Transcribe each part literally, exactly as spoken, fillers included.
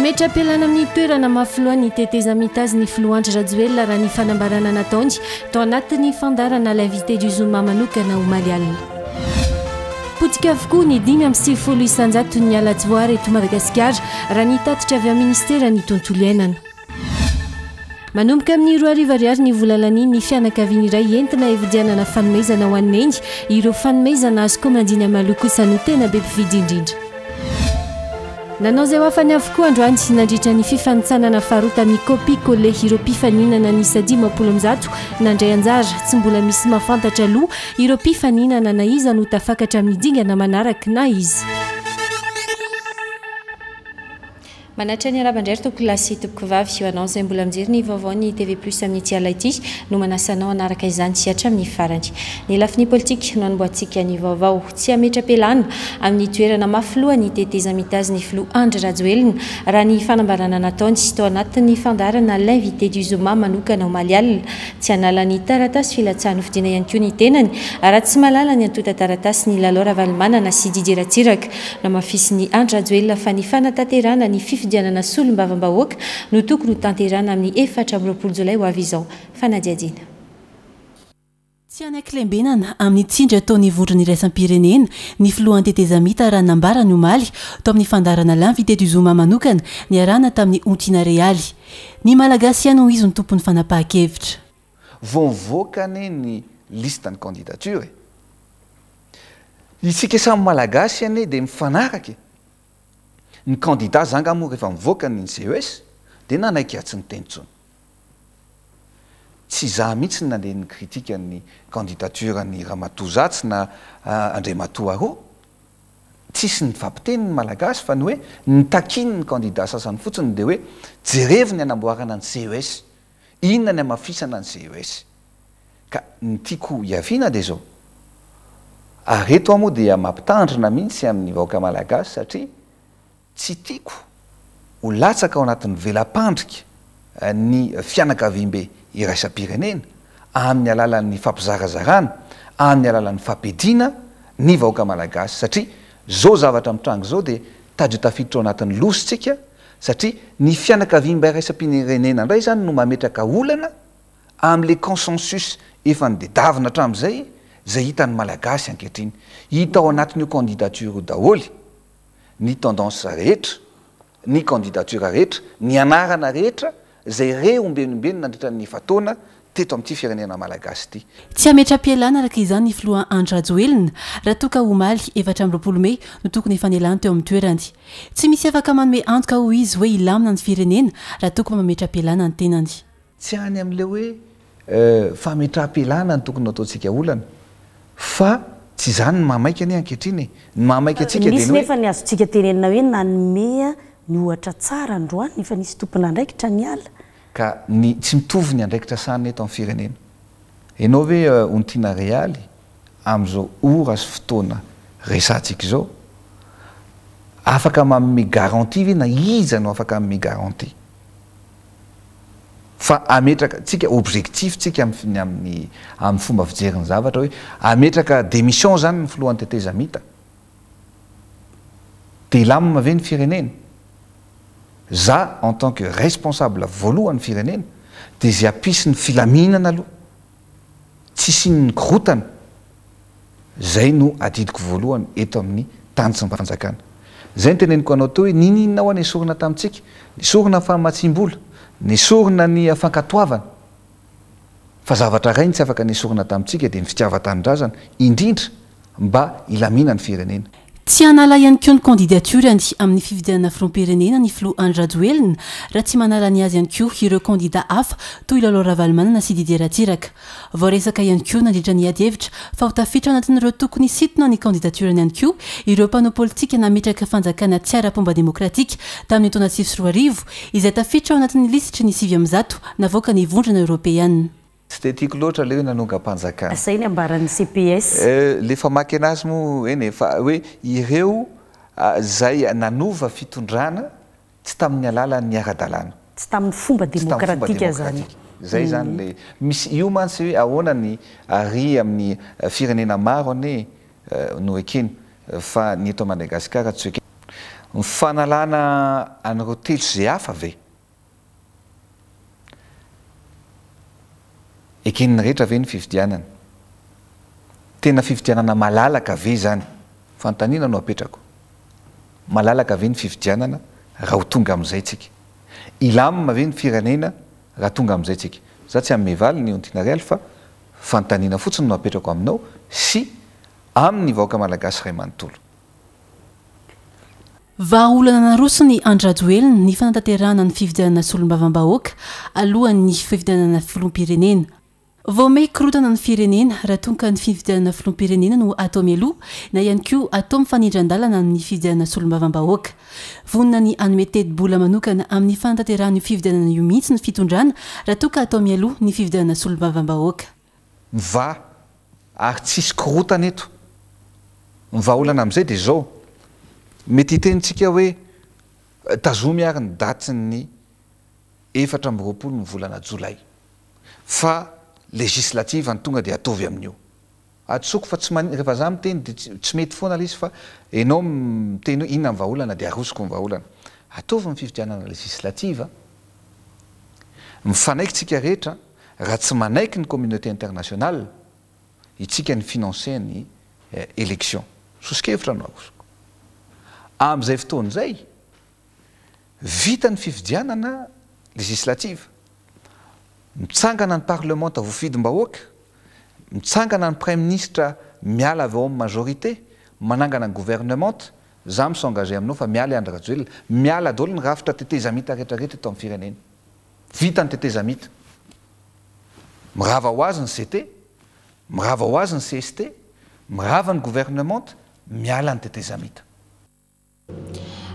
Hametra-pialana amin'ny toerana maha filohan'ny tetezamita azy ny filoha Andry Rajoelina, raha ny fanambarana nataony tao anatin'ny fandaharana L'Invité du Zoma manokana omaly alina. Potika avokoa ny dimy amby sivifolo isanjato ny ala tsy voaaro eto Madagasikara, raha ny tatitra avy amin'ny ministera ny tontolo iainana. Manomboka amin'ny roa arivo ariary ny vola lanian'ny fianakaviana iray entina hividianana fanomezana ho an'ny neny. Ireo fanomezana azo komandina maloha kosa no tena be mpividy indrindra. Nanao izay ho afany avokoa androany nandritra ny fifanintsanana faharoa tamin'ny copie coller ireo mpifaninana niisa dimampolo amby zato nandray anjara. Tsy mbola misy mahafantatra aloha ireo mpifaninana na iza no tafakatra amin'ny dingana manaraka na iza. Manatra ny arahaba indray ry tompoko lahy sy tompoko vavy. Eo anao izay mbola mijery ny vaovaon'ny T V Plus amin'ity alina ity no manasa anao hanaraka izany hatramin'ny farany. Ny lafiny politika no anombohantsika ny vaovao. Tsy hametra-pialana amin'ny toerana maha filohan'ny tetezamita azy ny filoha Andry Rajoelina, raha ny fanambarana nataony tao anatin'ny fandaharana L'Invité du Zoma manokana omaly alina. Tsy hanala ny taratasy filatsahana hofidiana ihany koa ny tenany raha tsy mahalala ny antontan-taratasy ny Lalao Ravalomanana sy Didier Ratsiraka. Namafisin'i Andry Rajoelina fa ny fanatanterahana ny fifidianana solombavambahoaka no tokony ho tanterahana amin'ny efatra amby roapolo jolay ho avy izao. Fanadihadiana. Tsy hanaiky lembenana amin'ny tsindry ataon'ny vondrona iraisam-pirenena ny filohan'ny tetezamita, raha nambarany omaly tao amin'ny fandaharana L'Invité du Zoma manokana niarahana tamin'ny Ontiana Realy. Ny Malagasy ihany ho izy ny tompon'ny fanapahan-kevitra. Vao mivoaka anie ny liste ny candidature e, isika samy Malagasy anie de mifanaraka ny candidat zanga moa. Rehefa mivoaka ny C E S de nanaiky atsy ny tenitsony. Tsy za mihitsy ny nandeha ny critique ny candidature ny ramatoa zatsy na andriamatoa aro. Tsisy ny fampiteny ny Malagasy fa ny hoe nytakiny ny candidat sasany fotsiny de hoe jerevy ny anamboarana ny C E S, inona ny amafisana ny C E S. Ka ny tiako iaviana de zao ary eto a moa dia mampitandrina mihitsy amin'ny vahoaka malagasy, satria tsy tiako ho latsaka ao anatin'ny vela-pandrika ny fianakaviambe iraisam-pirenena amin'ny alalan'ny fampizarazarana, amin'ny alalan'ny fampediana ny vahoaka malagasy, satria zao zavatra mitrango zao de tady ho tafiditra ao anatin'ny lositsika, satria ny fianakaviambe iraisam-pirenena indray zany no mametraka olana am'le consensus efa nodedavina hatram'izay zay hitan'ny Malagasy ankehitriny. Hita ao anatin'io candidature io daholy ny tendance rehetra, ny candidature rehetra, ny anarana rehetra zay re ombenombeny nandritra ny fataona teto amin'ity firenena malagasy ity. Tsy hametra-pialana araka izany ny filoha Andry Rajoelina raha toka omaly efatra amby roapolo mey no tokony efa nialany teo amin'ny toerany. Tsy misy afaka manome antoka ho izy hoe hilamina ny firenena raha tokony mametra-pialana ny tenany. Tsy any amin'le hoe euh, fametra-pialana ny tokony ataontsika olana, fa tsy zany ny mahamaika anie ankehitriny e. Ny mahamaika atsika misy nefa ny azontsika tenenina hoe nanomea ny ohatra tsara androany, efa nisy tompona andraikitra ny ala. Ka ny tsy mitovy ny andraikitra sanina eto amin'ny firenena. Ianao ve euh, Ontiana Realy, am'izao ora sy fotoana resantsika izao, afaka manome garantie ve, na iza no afaka manome garantie fa ametraka tsika objectif tsika amin'ny amin'ny amin'ny fomba fijeriny zavatra hoe ametraka démission zany ny filohan'ny tetezamita de lamina ve ny firenena? Za en tant que responsable voalohany firenena de zay ampisy ny filaminana aloha, tsisy ny korotana, zay no adidiko voalohany eto amin'ny tany sy mpanjakana. Zay ny teneniko anao teo hoe nininona ao nesorina tamintsika, nesorina famatsim-bola, nesorina ny fankatoavana, fa zavatra ray ny tsy afaka nesorina tamintsika de ny fitiavan-tanindrazana indrindra mba hilamina ny firenena. Tsy hanala ihany koa ny candidaturany amin'ny fifidianana filoham-pirenena ny filoha Andry Rajoelina raha tsy manala ny azy ihany koa ireo kandida hafa toy Lalao Ravalomanana sy Didier Ratsiraka. Voaresaka ihany koa nandritra ny ady hevitra fa ho tafiditra ao anatin'ireo tokony sitona ny candidaturany ihany koa ireo mpanao politika nametraka fanjakana tsy ara-pomba demokratika tamin'ny taona sivy sy roa arivo izay tafiditra ao anatin'ny lisitry ny sivy amby zato navoaka ny Vondrona Eoropeana. Tsy de tiako loatra le hoe nanongam-panjakana. Zay ny ambaran'ny C P S. Euh, le famaky anazy moa eny e, fa hoe ireo ah, zay nanova fitondrana tsy tamin'ny alalan'ny ara-dalàna. Tsy tamin'ny fomba Tsy tamin'ny fomba demokratika zany. Demokratika zay zany le misy io mantsy hoe ahoana ny ary amin'ny eh, firenena maro ane eh, no ekeny, fa ny eto Madagasikara tsy ekeny. Ny fanalana an'ireo telo sy izay hafa ve? Eken'ny rehetra ve ny fifidianana? Tena fifidianana malalaka ve izany? Fanontaniana no apetrako. Malalaka ve ny fifidianana raha ho tonga amin'izay tsika? Hilamina ve ny firenena raha tonga amin'izay tsika? Za tsy hanome valiny Ontinarialy fa fanontaniana fotsiny no apetrako aminao sy amin'ny vahoaka malagasy iray manontolo. Vahaolana naroson'i Andry Rajoelina ny fanatanterahana ny fifidianana solombavambahoaka alohan'ny fifidianana filoham-pirenena. Vao may korontana ny firenena raha toa ka ny fifidianana filoham-pirenena no atao mialoha na ihany koa atao mifanindran-dalana amin'ny fifidianana solombavambahoaka. Vonona ny hanome tetibola manokana amin'ny fanatanterahana io fifidianana io mihitsy ny fitondrana raha toa ka atao mialoha ny fifidianana solombavambahoaka. Mivaha ary tsisy korontana eto. Ny vahaolana amin'izay dia izao, mety hiteny tsika hoe tazomy ary ny datin'ny efatra amby roapolo ny volana jolay fa législative ny tonga dia ataovy amin'io. Atsoko fa tsy mani-, rehefa za miteny dia tsy, tsy mety foana ilay izy fa ianao miteny hoe inona ny vahaolana dia arosoko ny vahaolana. Ataovy ny fifidianana législative, mifanaiky tsika rehetra, raha tsy manaiky ny communauté internationale, itsika ny financer ny élection. Soso-kevitra no arosoko. Amin'izay fotoana izay, vita ny fifidianana législative, mitsangana ny parlement voafidim-bahoaka, mitsangana ny premier ministre miala avy ao amin'ny majorité, manangana ny gouvernement, za mi-s'engager aminao fa miala i Andry Rajoelina, miala daholo ny rafitra tetezamita rehetrarehetra eto amin'ny firenena. Vita ny tetezamita. Mirava ho azy ny C T, mirava ho azy ny C S T, mirava ny gouvernement, miala ny tetezamita.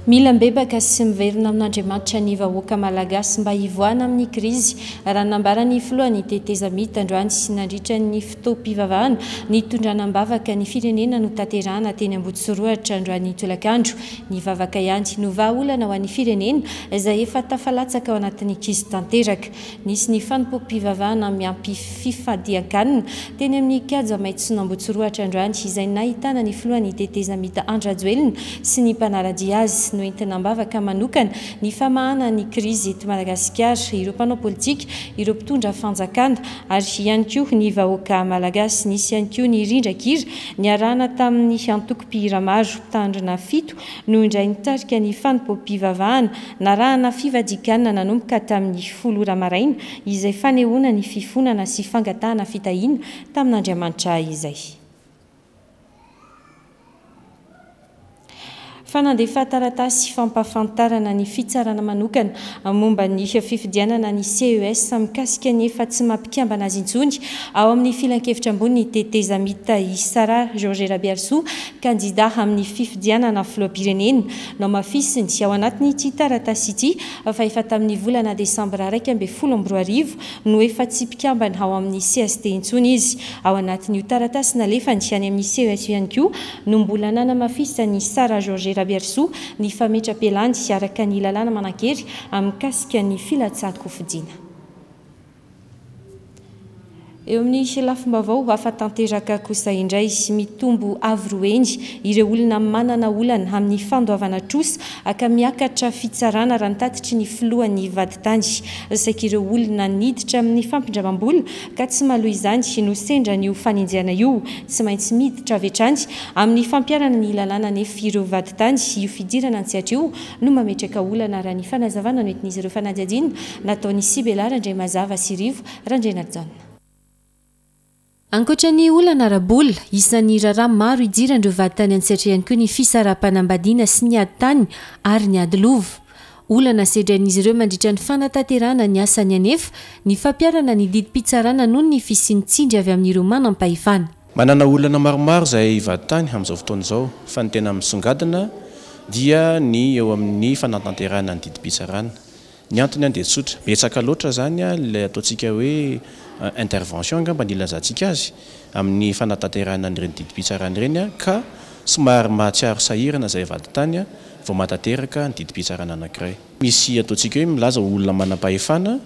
Mila mibebaka sy miverina amin'Andriamanitra ny vahoaka malagasy mba hivoahana amin'ny krizy, raha nambaran'ny filohan'ny tetezamita androany sy nandritra ny fotoam-pivavahana nitondrana am-bavaka ny firenena notanterahana teny Ambohitsorohitra androany tolakandro. Ny vavaka ihany no vahaolana ho an'ny firenena izay efa tafalatsaka ao anatin'ny krizy tanteraka. Nisy ny fanompoam-pivavahana miampy fifadian-kanina teny amin'ny kianja maitson'Ambohitsorohitra androany izay nahitana ny filohan'ny tetezamita Andry Rajoelina sy ny mpanara-dia azy. Noentina am-bavaka manokana ny famahana ny krizy eto Madagasikara, ireo mpanao politika, ireo mpitondra fanjakana ary ihany koa ny vahoaka malagasy. Nisy ihany koa ny rindran-kira niarahana tamin'ny antoko-mpihira maro. Mpitandrina fito no indray nitarika ny fanompoam-pivavahana narahana fivadikanana nanomboka tamin'ny folo ora maraina izay fanehoana ny fifonana sy fangatahana fitahiana tamin'Andriamanitra izay. Fa nandefa taratasy fampahafantarana ny fitsarana manokana momba ny fifidianana ny C E S mikasika ny efa tsy mampikambana azy intsony ao amin'ny filankevitra ambony tetezamita i Sara Georges Rabearisoa, kandida amin'ny fifidianana filoham-pirenena. Nohamafisiny ao anatin'ity taratasy ity fa efa tamin'ny volana desambra iraika ambin'ny folo amby roa arivo no efa tsy mpikambana ao amin'ny C S T intsony izy. Ao anatin'io taratasy nalefany any amin'ny C E S ihany koa no mbola nanamafisany Sara Georges Rabearisoa ny fametra-pialany araka ny lalàna manan-kery mikasika ny filatsahan-kofidina. Eo amin'ny lafim-baovao hafa tanteraka kosa indray, mitombo avo roa heny ireo olona manana olana amin'ny fandoavana trosa ka miakatra fitsarana raha nitatitry ny filohan'ny vadintany. Saika ireo olona niditra amin'ny fampindramam-bola ka tsy mahaloa izany no sendra an'io fanenjehana io. Tsy maintsy miditra avy hatrany amin'ny fampiharana ny lalàna nefa ireo vadintany io fidirana an-tsehatra io no mametraka olana raha ny fanazavana noentin'izy ireo fanadihadiana nataon'i Sibela Randriamazava sy Rivo Randrianarijaona. Ankoatra ny olana ara-bola, isan'ny raharaha maro idiran'ireo vadintany an-tsehatra ihany koa ny fisaraham-panambadiana sy ny ady tany ary ny ady lova. Olana sedrain'izy ireo mandritra ny fanatanterahana ny asany anefa ny fampiharana ny didim-pitsarana noho ny fisian'ny tsindry avy amin'ireo manam-pahefana. Manana olana maromaro izay vadintany amin'izao fotoana izao, fa ny tena misongadina dia ny eo amin'ny fanatanterahana ny didim-pitsarana. Ny antony dia tsotra, betsaka loatra izany ilay ataontsika hoe intervention angamba ny ilazantsika azy amin'ny fanatanterahana an'ireny didim-pitsarana ireny, ka somary mahatsiaro sahirana izay vadintany vao mahatanteraka ny didim-pitsarana anankiray. Misy ataontsika hoe milaza ho olona manam-pahefana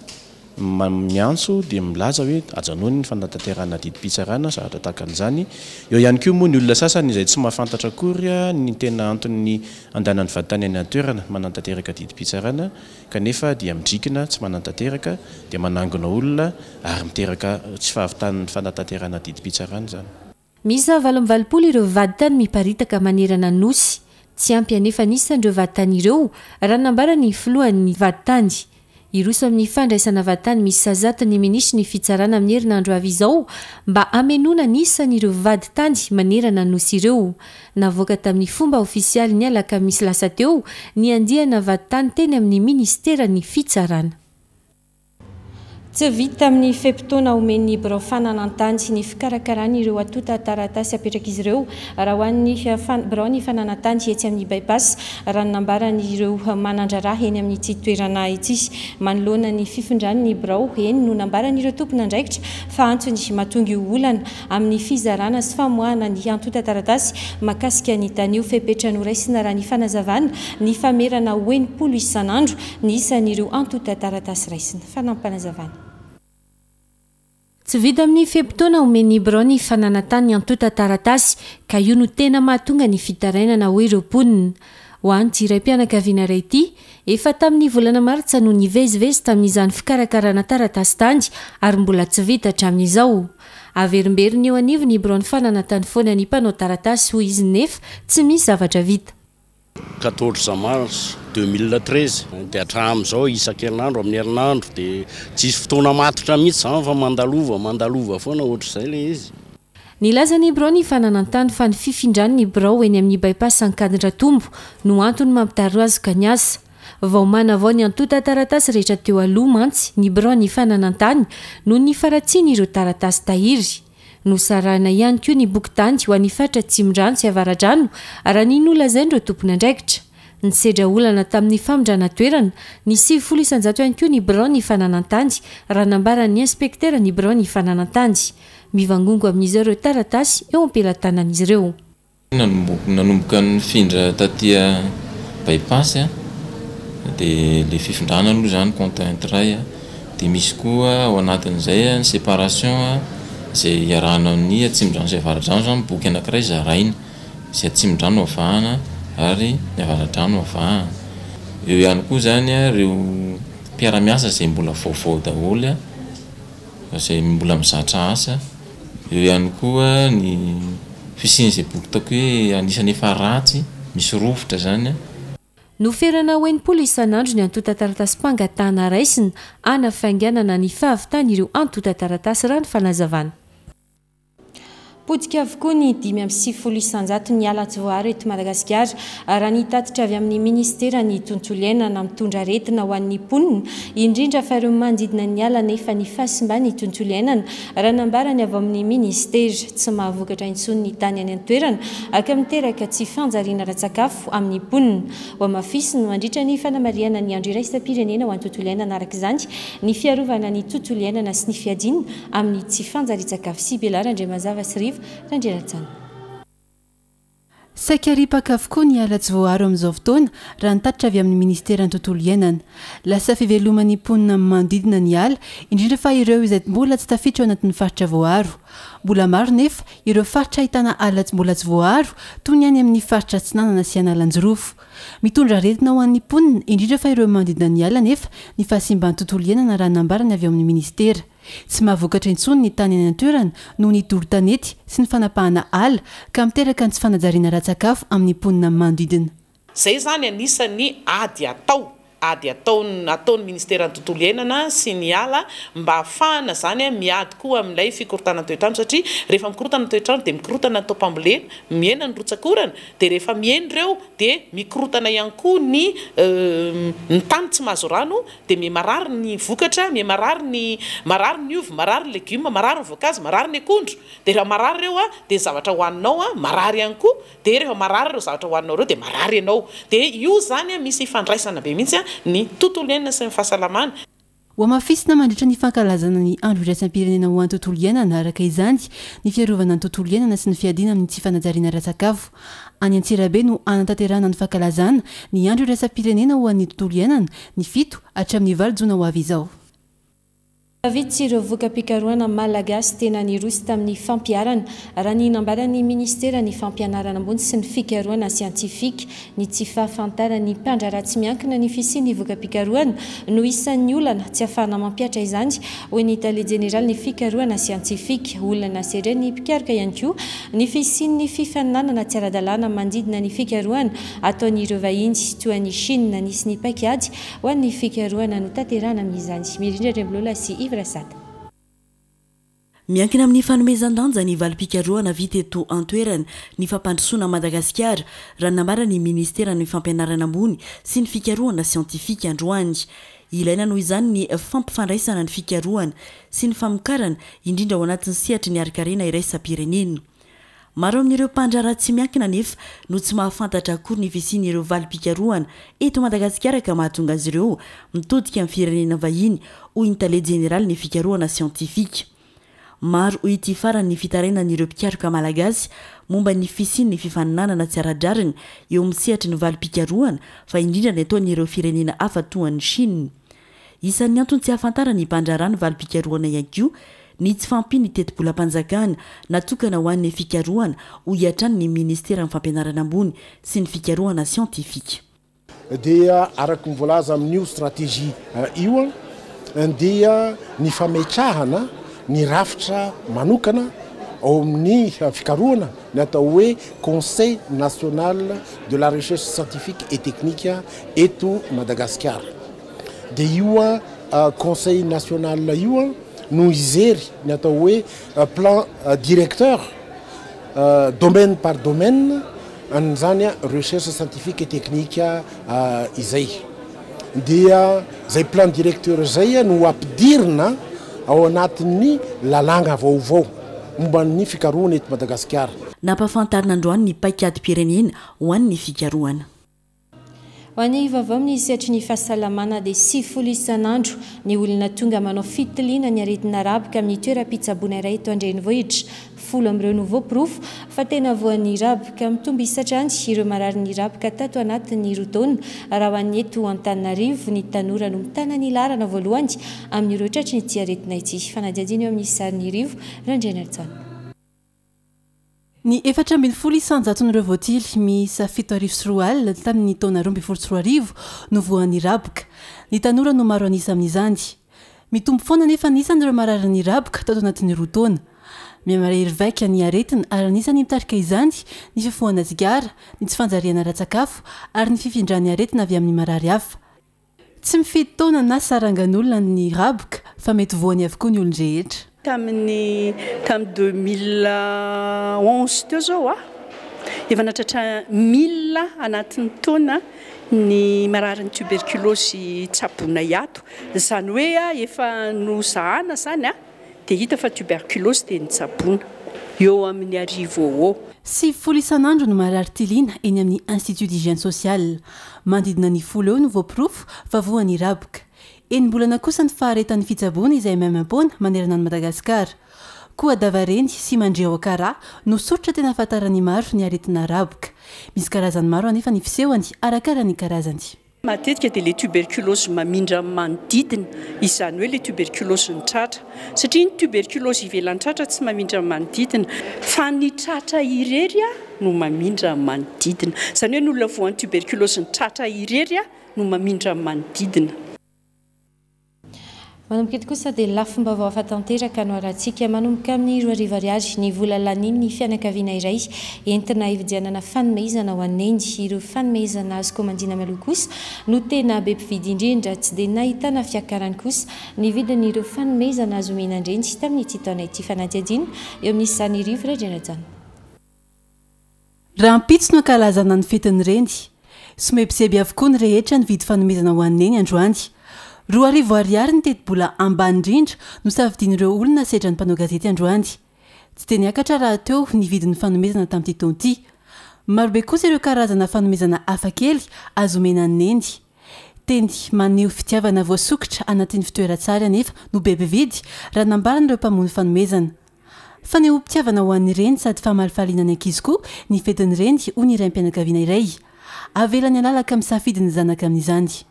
Miantso dia milaza hoe ajanony ny fanatanterahana didim-pitsarana, zavatra tahaka an'izany. Eo ihany koa moa ny olona sasany izay tsy mahafantatra akory ny tena anton'ny andehanan'ny vaditany any an-toerana manatanteraka didim-pitsarana, kanefa dia midrikina tsy manatanteraka, dia manangona olona ary miteraka tsy fahavitan'ny fanatanterahana didim-pitsarana izany. Miisa valo amby valopolo ireo vaditany miparitaka manerana ny nosy. Tsy ampy anefa ny isan'ireo vaditany ireo raha nambaran'ny filohan'ny vaditany. Hiroso amin'ny fandraisana vaditany miisa zato ny minisitry ny fitsarana amin'ny herinandro avy izao mba hamenoana ny isan'ireo vaditany manerana ny nosy ireo. Navoaka tamin'ny fomba ofisialy ny alakamisy lasa teo ny andiana vaditany teny amin'ny ministeran'ny fitsarana. Tsy vita amin'ny fe-potoana omen'ny birao fananan-tany sy ny fikarakarana ireo antontan-taratasy apetrak'izy ireo raha ho an'ny birao ny fananan-tany etsy amin'ny bypass, raha ny nambaran'ireo manan-draharaha eny amin'ity toerana ity. Manoloana ny fifindran'ny birao eny no nambaran'ireo tompon'andraikitra fa antony mahatonga io olana amin'ny fizarana sy famoahana ny antontan-taratasy mahakasika ny tany io. Fepetra noraisina raha ny fanazavana ny famerana ho enimpolo isan'andro ny isan'ireo antontan-taratasy raisina. Fanampinazavana. Tsy vita amin'ny fe-potoana omen'ny birao ny fananan-tany ny antontan-taratasy ka io no tena mahatonga ny fitarainana ho ireo mponina. Ho an'ity raim-pianakaviana iray ity, efa tamin'ny volana martsa no nivezivezy tamin'izany fikarakarana taratasy tany ary mbola tsy vita hatramin'izao. Averimberina eo anivon'ny birao ny fananan-tany foana ny mpanao taratasy hoy izy, nefa tsy misy zavatra vita. quatorze mars deux mille treize dia hatramin'izao isan-kerinandro amin'ny herinandro dia tsisy fotoana matotra mihitsy izany fa mandalova mandalova foana ohatr'izay ilay izy. Nilaza ny birao ny fananan-tany fa ny fifindran'ny birao eny amin'ny bypass Ankadindratombo no antony mampitarazoka ny asa. Vao manavao ny antontan-taratasy rehetra teo aloha mantsy ny birao ny fananan-tany noho ny faharatsian'ireo taratasy tahiry. Nosarahina ihany koa ny boky-tany ho an'ny faritra Atsimondrano sy Avaradrano raha ny nolazain'ireo tompon'andraikitra. Nisedra olana tamin'ny famindrana toerana ny sivifolo isanjato ihany koa ny birao ny fananan-tany raha nambaran'ny inspektera ny birao ny fananan-tany. Mivangongo amin'izy ireo taratasy eo am-pelatanan'izy ireo. Nanomboka nifindra taty bypass dia ilay fifindrana aloha izany contrainte iray, dia misy koa ao anatin'izay ny séparation izay iarahana amin'ny Atsimondrano sy Avaradrano, izany boky anankiray zaraina, izay Atsimondrano avahana ary ny Avaradrano avahana. Eo ihany koa izany ireo mpiara-miasa izay mbola vaovao daholo, izay mbola mizatra asa. Eo ihany koa ny fisian'izay boky ataoko hoe anisan'ny efa ratsy, misy rovitra izany. Noferana ho enimpolo isan'andro ny antontan-taratasy-pangatahana raisina hanafainganana ny fahavitan'ireo antontan-taratasy raha ny fanazavana. Potika avokoa ny dimy amby sivifolo isanjato ny ala tsy voaaro eto Madagasikara raha ny tatitra avy amin'ny ministeran'ny tontolo iainana mitondra aretina ho an'ny mponina, indrindra fa ireo manodidina ny ala nefa ny fahasimban'ny tontolo iainana raha nambarany avy amin'ny ministera. Tsy mahavokatra intsony ny tany any an-toerana ka miteraka tsy fanjariana ara-tsakafo amin'ny mponina. Ho hamafisina mandritra ny fanamarihana ny andro iraisam-pirenena ho an'ny tontolo iainana araka izany ny fiarovana ny tontolo iainana sy ny fiadiana amin'ny tsy fanjarian-tsakafo. Sy Belara Andriamazava sy Rivo Randrianajana. Saika ripaka avokoa ny ala tsy voaaro amin'izao fotoana raha ny tatitra avy amin'ny ministeran'ny tontolo iainana. Lasa fiveloman'ny mponina manodidina ny ala, indrindra fa ireo izay mbola tsy tafiditra ao anatin'ny faritra voaaro. Mbola maro nefa ireo faritra ahitana ala tsy mbola tsy voaaro toy ny any amin'ny faritra Atsinanana sy Analanjirofo. Mitondra aretina ho an'ny mponina, indrindra fa ireo manodidina ny ala nefa ny fahasimban'ny tontolo iainana raha nambarany avy ao amin'ny ministera. Tsy mahavokatra intsony ny tany any an-toerana noho ny doro tanety sy ny fanapahana ala ka miteraka ny tsy fanajariana ara-tsakafo amin'ny mponina manodidina. Izay izany anisan'ny ady atao, ady ataon-, ataon'ny ministeran'ny tontolo iainana sy ny ala mba ahafahana izany miady koa amin'ilay fikorontanana toetrandro, satria rehefa mikorotana toetrandro dia mikorotana ny taom-pambolena, mihena ny rotsak'orana, dia rehefa mihena ireo dia mikorotana ihany koa ny, ny tany tsy mahazo rano, dia miha-marary ny vokatra, miha-marary ny, marary ny ovy, marary ny legioma, marary ny voankazo, marary ny akondro. Dia rehefa marary ireo dia ny zavatra hohaninao marary ihany koa, dia rehefa marary ireo zavatra hohaninao ireo dia marary ianao. Dia io izany misy ifandraisana be mihitsy ny tontolo iainana sy ny fahasalamana. Hohamafisina mandritra ny fankalazana ny andro iraisam-pirenena ho an'ny tontolo iainana araka izany ny fiarovana ny tontolo iainana sy ny fiadiana amin'ny tsy fanajariana ara-tsakafo. Any Antsirabe no hanatanterahana ny fankalazana ny andro iraisam-pirenena ho an'ny tontolo iainana ny fito hatramin'ny valo jona ho avy izao. Vitsy ireo voka-pikarohana malagasy tena niroso tamin'ny fampiharana, raha ny nambaran'ny ministeran'ny Fampianarana ambony sy ny fikarohana siantifika. Ny tsy fahafantaran'ny mpandraharaha tsy miankina ny fisian'ny voka-pikarohana no isan'ny olana tsy ahafahana mampihatra izany, hoy ny tale jeneraly ny fikarohana siantifika. Olana sedrain'ny mpikaroka ihany koa ny fisian'ny fifaninanana tsy ara-dalàna manodidina ny fikarohana ataon'ireo vahiny toa an'i Chine. Nisy ny paikady ho an'ny fikarohana notanterahana amin'izany. Mirindra Andriambilola sy Yves Rasata. Miankina amin'ny fanomezan-danja ny valim-pikarohana vita eto an-toerana ny fampandrosoana Madagasikara, raha nambaran'ny ministeran'ny Fampianarana ambony sy ny fikarohana siantifika androany. Ilaina noho izany ny fampifandraisana ny fikarohana sy ny famokarana, indrindra ao anatin'ny sehatry ny harinkarena iraisam-pirenena. Maro amin'ireo mpandraharaha tsy miankina anefa no tsy mahafantatra akory ny fisian'ireo valim-pikarohana eto Madagasikara, ka mahatonga azy ireo mitodika amin'ny firenena vahiny, hoy ny tale jeneraly ny fikarohana siantifika. Maro, hoy ity farany, ny fitarainan'ireo mpikaroka malagasy momba ny fisian'ny fifaninanana tsy ara-drariny eo amin'ny sehatry ny valim-pikarohana, fa indrindra ny ataon'ireo firenena hafa toa an'i Chine. Isan'ny antony tsy ahafantaran'ny mpandraharaha ny valim-pikarohana ihany koa ny tsy fahampian'ny tetibolam-panjakana natokana ho an'ny fikarohana, hoy hatrany ny ministeran'ny Fampianarana ambony sy ny fikarohana siantifika. Dia araka ny voalaza amin'io stratégie io dia ny fametrahana ny rafitra manokana ao amin'ny fikarohana, ny atao hoe Conseil national de la recherche scientifique et technique eto Madagasikara. Dia io conseil national io no hijery ny atao hoe plan directeur domaine par domaine an'izany recherche scientifique et technique izay. Dia zay plan directeur zay no ampidirina ao anatin'ny lalàna vaovao momba ny fikarohana eto Madagasikara. Nampahafantarina androany ny paikady-pirenena ho an'ny fikarohana. Ho an'ny vaovao amin'ny sehatry ny fahasalamana, dia sivifolo isan'andro ny olona tonga manao fitiliana ny aretina raboka amin'ny toeram-pitsaboana iray eto an-drenivohitra. Folo amin'ireo no voaporofo fa tena voan'ny raboka. Mitombo isa hatrany ireo marary ny raboka tato anatin'ny roa taona. Raha ho an'ny eto Antananarivo, ny tanora no mitana ny laharana voalohany amin'ireo tratry ny ity aretina ity. Fanadihadiana eo amin'ny sarin'ny Rivo Randrianaritsana. Ny efatra ambin'ny folo isan-jaton'ireo voatily miisa fito arivo sy roa alina tamin'ny taona roa ambin'ny folo sy roa arivo no voan'ny raboka. Ny tanora no maro an'isa amin'izany. Mitombo foana nefa ny isan'ireo marary ny raboka tato anatin'ny roa taona. Mihamahery vaika ny aretina, ary anisan'ny mitarika izany ny fifohana sigara, ny tsy fanjariana ara-tsakafo ary ny fifindran'ny aretina avy amin'ny marary hafa. Tsy mifidy taona na sarangan'olona ny raboka, fa mety voany avokoa ny olon-drehetra. Tamin'ny tamin'ny deux mille onze teo zao a, efa natratra mille anatin'ny taona ny mararin'ny tuberculose tsaboina ato. Izany hoe a, efa nozahana zany a, dia hita fa tuberculose, dia nitsaboina eo amin'ny arivo eo. Sivifolo isan'andro no marary tiliana eny amin'ny Institut d'hygiène sociale. Manodidina ny folo eo no voaporofo fa voan'ny raboka. Enim-bolana kosa ny faharetan'ny fitsaboana, izay maimaim-poana manerana an'i Madagasikara. Koa davareny sy mandre ao Ankaraha no soritra tena ahafantaran'ny maro ny aretina raboka. Misy karazany maro anefa ny fisehony, arakaraka ny karazany. Matetika dia le tuberculose mamindra amin'ny manodidina, izany hoe le tuberculose ny tratra, satria ny tuberculose ivelan'ny tratra tsy mamindra amin'ny manodidina, fa ny tratra irery a no mamindra amin'ny manodidina. Izany hoe ny olona voan'ny tuberculose ny tratra irery a no mamindra amin'ny manodidina. Manomboka eto kosa dia lafim-baovao hafa tanteraka no arahantsika. Manomboka amin'ny roa arivo ariary ny vola lanin'ny fianakaviana iray entina hividianana fanomezana ho an'ny neny. Ireo fanomezana azo komandina mialoha kosa no tena be mpividy indrindra. Tsy dia nahitana fiakarany kosa ny vidin'ireo fanomezana azo omena an-dreny tamin'ity taona ity. Fanadihadiana eo amin'ny sarin'ny Rivo Randrianajana. Rahampitso no ankalazana ny fetin'ny reny. Somebiseby avokoa ny rehetra nividy fanomezana ho an'ny neny androany. Roa arivo ariary ny tetibola ambany indrindra no safidian'ireo olona sedran'ny mpanao gazety androany. Tsy dia niakatra raha teo ny vidin'ny fanomezana tamin'ity taona ity. Marobe kosa ireo karazana fanomezana hafakely azo omena ny neny. Teny maneho fitiavana voasokitra anatin'ny fitoeran-tsary anefa no be mpividy, raha nambaran'ireo mpamono fanomezana. Fanehoam-pitiavana ho an'ny reny sady famalifaliana ny ankizy koa ny fetin'ny reny, hoy ny raim-pianakaviana iray. Avelany halalaka misafidy ny zanaka amin'izany.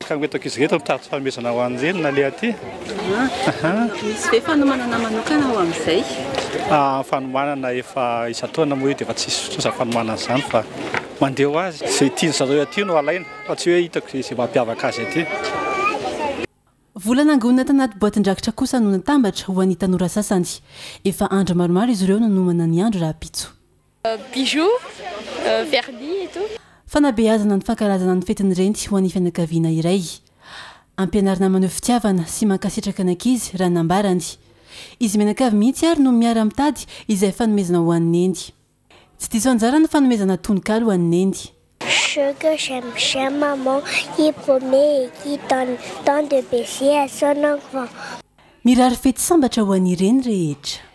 Ka ireto ankizy ireto mitady fanomezana ho an'ny reny naleha aty. Misy ve fanomanana manokana ho amin'izay? Fanomanana efa isan-taona moa io dia efa tsisy trosa fanomanana izany fa mandeha ho azy. Izay tiany zareo aty no alaina fa tsy hoe hitako izay mampiavaka azy aty. Vola nangonina tanaty boatin-drakitra kosa no natambatra ho an'ny tanora sasany. Efa andro maromaro izy ireo no nanomana ny andro rahampitso. Bijoux, vernis et tout. Fanabeazana ny fankalazana ny fetin'ny reny ho an'ny fianakaviana iray. Ampianarina maneho fitiavana sy mankasitraka ny ankizy raha nambarany. Izy mianakavy mihitsy ary no miara-mitady izay fanomezana ho an'ny neny. Tsy diso anjara ny fanomezana tononkalo ho an'ny neny. Ce que j'aime, chère maman, qui promet et qui donne tant de baisers à son enfant. Mirary fety sambatra ho an'ny reny rehetra.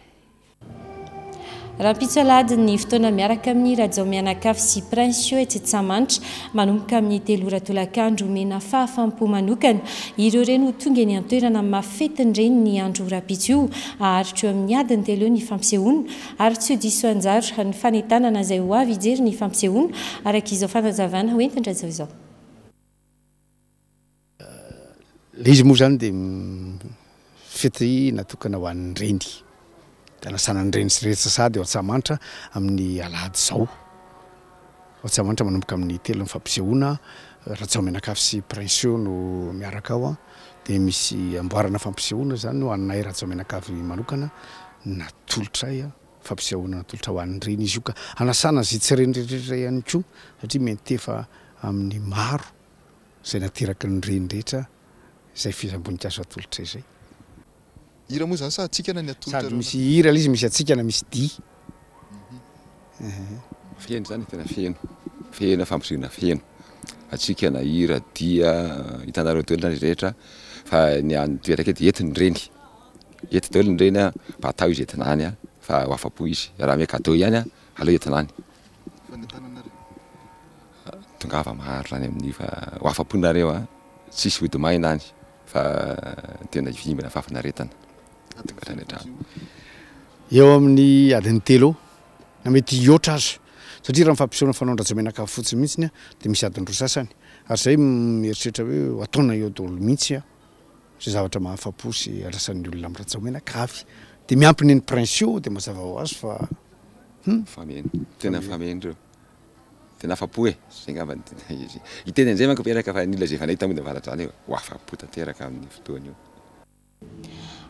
Rahampitso alahady ny fotoana miaraka amin'ny Rajao mianakavy sy Prince etsy Antsahamanitra manomboka amin'ny telo ora tolakandro. Omena fahafaham-po manokana ireo reny ho tonga eny an-toerana amin'ny maha-fetin'ny reny ny andro rahampitso io. Haharitra eo amin'ny adiny telo eo ny fampisehoana ary tsy ho diso anjara ny fanentanana izay ho avy hijery ny fampisehoana araka izao fanazavana hoentin-dRajao izao. Ilay izy moa izany dia fety natokana ho an'ny reny. Anasana ny reny sy rehetra sady eo Antsahamanitra amin'ny alahady izao. Antsahamanitra manomboka amin'ny telo ny fampisehoana, Rajao mianakavy sy Prince no miaraka ao. Dia misy amboarana fampisehoana izany ho anay Rajao mianakavy manokana natolotray fampisehoana natolotra ho an'ny reny izy io ka anasana izay tsy reny rehetra ihany koa satria miantefa amin'ny maro izay nateraky ny reny rehetra izay fehezam-boninkazo atolotra izay. Hira moa izany sa hatsikana ny atolotra? Sady misy hira ilay izy, misy hatsikana, misy dihy. Feno izany, tena feno. Feno, fampisehoana feno. Hatsikana, hira, dia, hitanareo daholo ny rehetra fa ny an'ny toeraka eto, eto ny reny. Eto daholo ny reny, mba atao izy entina any fa ho afa-po izy. Raha ome cadeau ihany, aleo entina any. Tongava maro zany amin'io fa ho afa-po nareo, tsisy ody maina any fa tena hivimbina fahafinaretana. Tonga hatrany an-trano. Eo amin'ny adiny telo eo, na mety hihoatra aza, satria raha ny fampisehoana fanaon-dRajao mianakavy fotsiny mihitsy dia misy adiny roa sasany. Ary izay mieritreritra hoe ataona eo daholo mihitsy izay zavatra mahafa-po sy andrasan'ny olona amin'ny Rajao mianakavy. Dia miampy ny Prince io dia mazava ho azy fa hmm. Fameno, tena fameno ireo. Tena afa-po e, izay angamba ny tena izy. Hiteny an'izay manko miaraka fa ny olona izay efa nahita moa dia mahafantatra izany hoe ho afa-po tanteraka amin'ny fotoana io.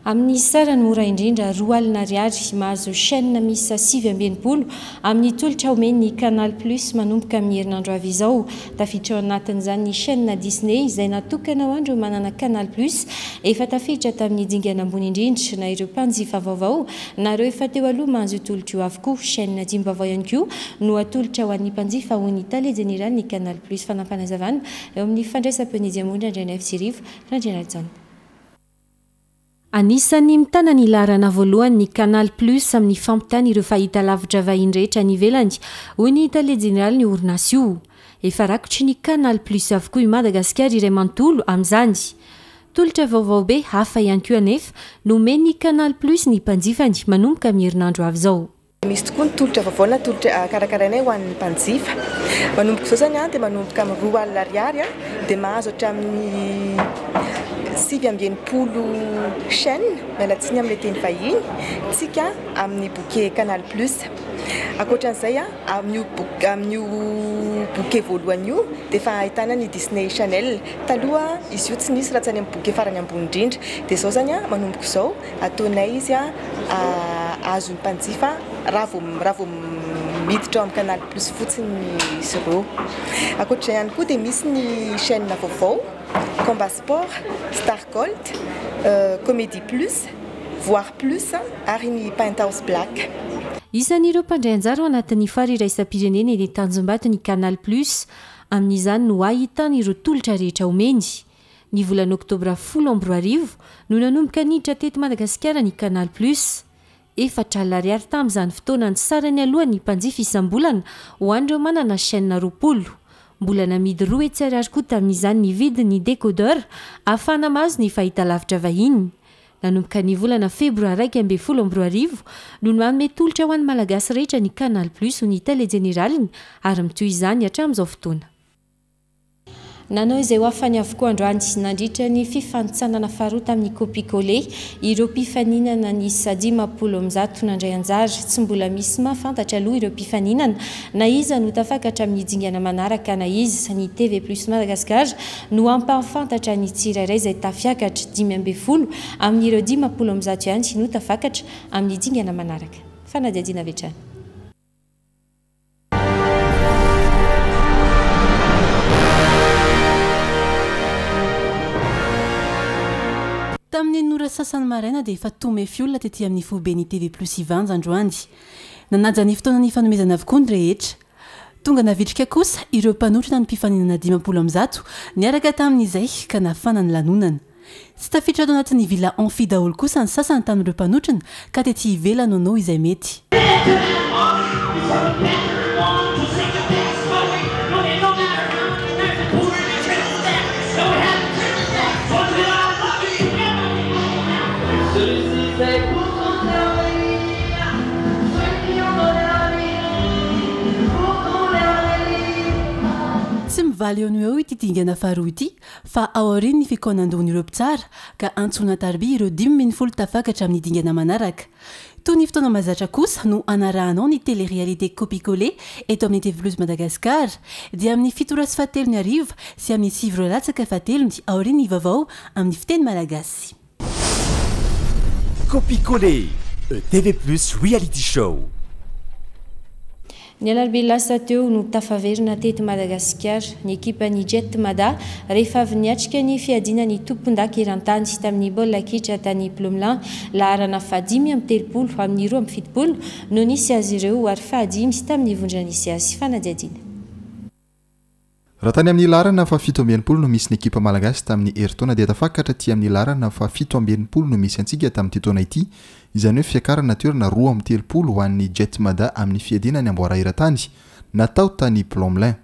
Amin'ny sarany mora indrindra roa alina ariary mahazo chaîne miisa sivy amby enimpolo amin'ny tolotra omen'ny Canal Plus manomboka amin'ny herinandro avy izao. Tafiditra ao anatin'izany ny chaîne Disney izay natokana ho an'ireo manana Canal Plus efa tafiditra tamin'ny dingana ambony indrindra na ireo mpanjifa vaovao na ireo efa teo aloha mahazo tolotra io avokoa. Chaîne dimy vaovao ihany koa no atolotra ho an'ny mpanjifa ho ny tale jeneraly ny Canal Plus. Fanampanazavana eo amin'ny fandraisam-peon'izy Amondra Andrianaivo Tsirivo Randrianarijaona. Anisan'ny mitana ny laharana voalohany ny Canal Plus amin'ny fampitana ireo fahitalavitra vahiny rehetra any ivelany, hoy ny tale jeneraly ny orinasa io. Efa rakotry ny Canal Plus avokoa i Madagasikara iray manontolo amin'izany. Tolotra vaovao be hafa ihany koa anefa no omen'ny Canal Plus ny mpanjifany manomboka amin'ny herinandro avy izao. Misy tokoa ny tolotra vaovao na tolotra karakarainay ho an'ny mpanjifa. Manomboka izao izany dia manomboka amin'ny roa alina ariary dia mahazo hatramin'ny sivy amby enimpolo chaîne, miala tsiny amin'ilay teny vahiny, tsika amin'ny bouquet Canal Plus. Ankoatran'izay, amin'io amin'io bouquet voalohany io dia efa ahitana ny Disney Channel. Taloha izy io tsy nisy raha tsy any amin'ny bouquet farany ambony indrindra. Dia izao izany manomboka izao ataonay izy azon'ny mpanjifa raha vao raha vao miditra ao amin'ny Canal Plus fotsiny izy ireo. Ankoatr'izay ihany koa dia misy ny chaîne vaovao Combat Sport, Star Gold, Comédie Plus, Voir Plus ary ny Penthouse Black. Isan'ireo mpandray anjara ao anatin'ny foara iraisam-pirenena eny Tanjombato ny Canal Plus. Amin'izany no ahitana ireo tolotra rehetra omeny. Ny volana oktobra folo amby roa arivo no nanomboka niditra teto Madagasikara ny Canal Plus. Efatra alina ariary tamin'izany fotoana ny sarany alohan'ny mpanjifa isam-bolana ho an'ireo manana chaîne roapolo. Mbola namidy roa hetsy ariary koa tamin'izany ny vidin'ny décodeur ahafahana mahazo ny fahitalavitra vahiny. Nanomboka ny volana febroary iraika ambin'ny folo amby roa arivo no nanome tolotra ho an'ny Malagasy rehetra ny Canal Plus ho ny tale jeneraliny ary mitohy izany hatramin'izao fotoana. Nanao izay ho afany avokoa androany nandritra ny fifanintsanana faharoa tamin'ny Copicolé ireo mpifaninana ny dimampolo amby zato nandray anjara. Tsy mbola misy mahafantatra aloha ireo mpifaninana na iza no tafakatra amin'ny dingana manaraka na iza. Ny T V Plus Madagascar no ampahafantatra ny tsirairay izay tafiakatra. Dimy amby folo amin'ireo dimampolo amby zato ihany no tafakatra amin'ny dingana manaraka. Fanadihadiana avy hatrany. Tamin'ny enina sasany maraina dia efa tomefy olona tety amin'ny foiben'ny T V Plus Ivanja androany. Nanaja ny fotoana ny fanomezana avokoa ny rehetra. Tonga navitrika kosa ireo mpanotrona ny mpifaninana dimampolo amby zato niaraka tamin'izay ka nafana ny lanonana. Tsy tafiditra ato anatin'ny villa amphi daholo kosa ny sasany tamin'ireo mpanotrona ka tety ivelany nanao izay mety. Tsy mivaly eo no eo ity dingana faharoa ity fa aorian'ny fikaonandohan'ireo mpitsara ka antsoina tarbi ireo dimy ambin'ny folo tafakatra amin'ny dingana manaraka. Toy ny fotoana mahazatra kosa no anarahanao ny télé-réalité Copicolé eto amin'ny T V Plus Madagascar dia amin'ny fito ora sy fahatelony hariva sy amin'ny sivy ora latsaka fahatelony aorian'ny vaovao amin'ny fiteny malagasy. Copicolé, T V Plus Reality Show. Ny alarobia lasa teo no tafaverina teto Madagasikara ny ekipan'ny Jet Mada rehefa avy niatrika ny fiadiana ny tompon-daka eran-tany tamin'ny baolina kitra tany Plomelin. Laharana fahadimy amby telopolo amin'ny roa amby fitopolo no nisy azy ireo ary fahadimy tamin'ny vondrona nisy azy. Fanadihadiana. Raha tany amin'ny laharana fahafito amby enimpolo no misy ny ekipa malagasy tamin'ny herintaona dia tafakatra ty amin'ny laharana fahafito amby enimpolo no misy antsika tamin'ity taona ity, izany hoe fiakarana toerana roa amby telopolo ho an'ny Jet Mada amin'ny fiadiana ny amboara eran-tany natao tany Plomelin.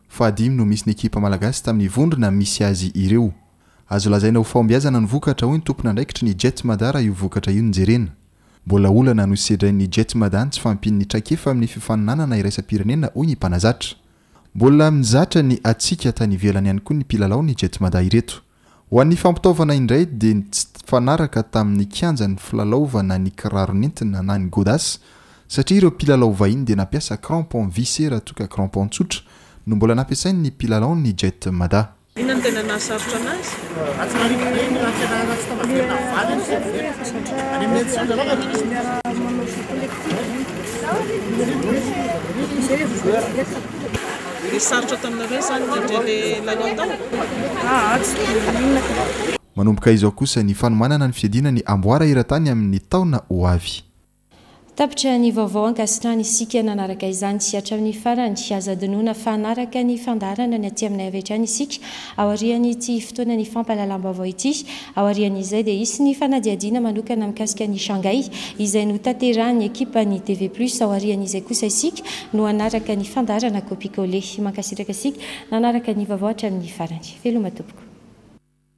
Fahadimy no misy ny ekipa malagasy tamin'ny vondrona misy azy ireo. Azo lazaina ho fahombiazana ny vokatra, hoy ny tompona andraikitry ny Jet Mada, raha io vokatra io no jerena. Mbola olana no sedrain'ny Jet Mada ny tsy fahampian'ny traikefa amin'ny fifaninanana iraisam-pirenena, hoy ny mpanazatra. Mbola mizatra ny atsika tany ivelany ihany koa ny mpilalao ny Jet Mada ireto. Ho an'ny fampitaovana indray dia tsy fanaraka tamin'ny kianja ny filalaovana ny kiraro nentina na ny godasse satria ireo mpilalao vahiny dia nampiasa crampon vissé raha toka crampon tsotra no mbola nampiasainy ny mpilalao ny Jet Mada. Inona no tena nahasarotra anazy? Dia sarotra taminareo zany nandray le lalao tao? Manomboka izao kosa ny fanomanana ny fiadiana ny amboara eran-tany amin'ny taona ho avy. Tapitra ny vaovao. Ankasitrahana isika nanaraka izany hatramin'ny farany. Aza adinoina fa hanaraka ny fandaharana ny aty aminay avy hatrany isika aorian'ity fotoana ny fampahalalam-baovao ity. Aorian'izay dia hisy ny fanadihadiana manokana mikasika ny Shanghai izay no tanterahan'ny ekipa ny T V Plus. Aorian'izay kosa isika no hanaraka ny fandaharana Copicolé. Mankasitraka isika nanaraka ny vaovao hatramin'ny farany. Veloma tompoko.